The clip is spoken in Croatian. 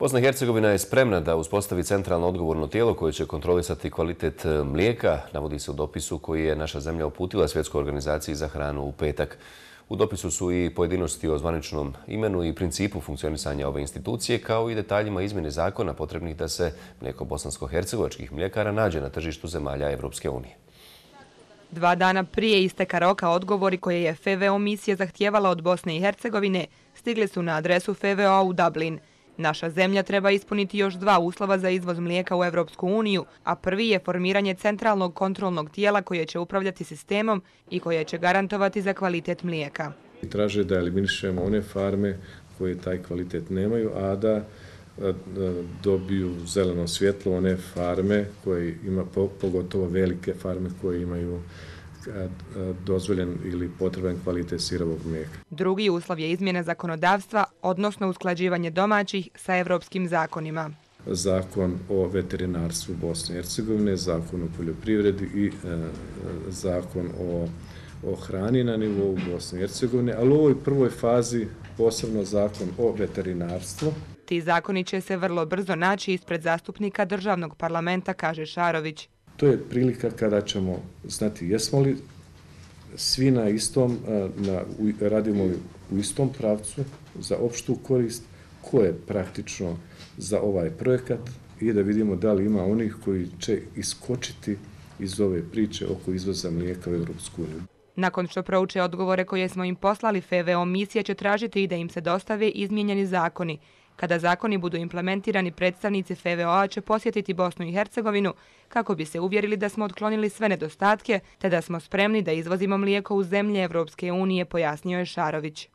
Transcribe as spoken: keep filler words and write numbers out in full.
Bosna i Hercegovina je spremna da uspostavi centralno odgovorno tijelo koje će kontrolisati kvalitet mlijeka, navodi se u dopisu koji je naša zemlja uputila Svjetskoj organizaciji za hranu u petak. U dopisu su i pojedinosti o zvaničnom imenu i principu funkcionisanja ove institucije, kao i detaljima izmjene zakona potrebnih da se mlijeko bosansko-hercegovačkih mljekara nađe na tržištu zemalja Evropske unije. Dva dana prije isteka roka odgovori koje je F V O misija zahtijevala od Bosne i Hercegovine stigli su na adresu F V O u Dublin. Naša zemlja treba ispuniti još dva uslova za izvoz mlijeka u Evropsku uniju, a prvi je formiranje centralnog kontrolnog tijela koje će upravljati sistemom i koje će garantovati za kvalitet mlijeka. Traže da eliminišemo one farme koje taj kvalitet nemaju, a da dobiju zeleno svjetlo one farme koje ima, pogotovo velike farme koje imaju dozvoljen ili potreban kvalitet sirovog mlijeka. Drugi uslov je izmjena zakonodavstva, odnosno usklađivanje domaćih sa evropskim zakonima. Zakon o veterinarstvu Bosne i Hercegovine, zakon o poljoprivredi i e, zakon o, o hrani na nivou Bosne i Hercegovine, ali u ovoj prvoj fazi posebno zakon o veterinarstvu. Ti zakoni će se vrlo brzo naći ispred zastupnika državnog parlamenta, kaže Šarović. To je prilika kada ćemo znati jesmo li svi na istom, na, radimo li u istom pravcu za opštu korist, ko je praktično za ovaj projekat i da vidimo da li ima onih koji će iskočiti iz ove priče oko izvoza mlijeka u Evropsku uniju. Nakon što prouče odgovore koje smo im poslali, F V O misija će tražiti i da im se dostave izmijenjeni zakoni. Kada zakoni budu implementirani, predstavnici F V O-a će posjetiti Bosnu i Hercegovinu kako bi se uvjerili da smo otklonili sve nedostatke te da smo spremni da izvozimo mlijeko u zemlje Evropske unije, pojasnio je Šarović.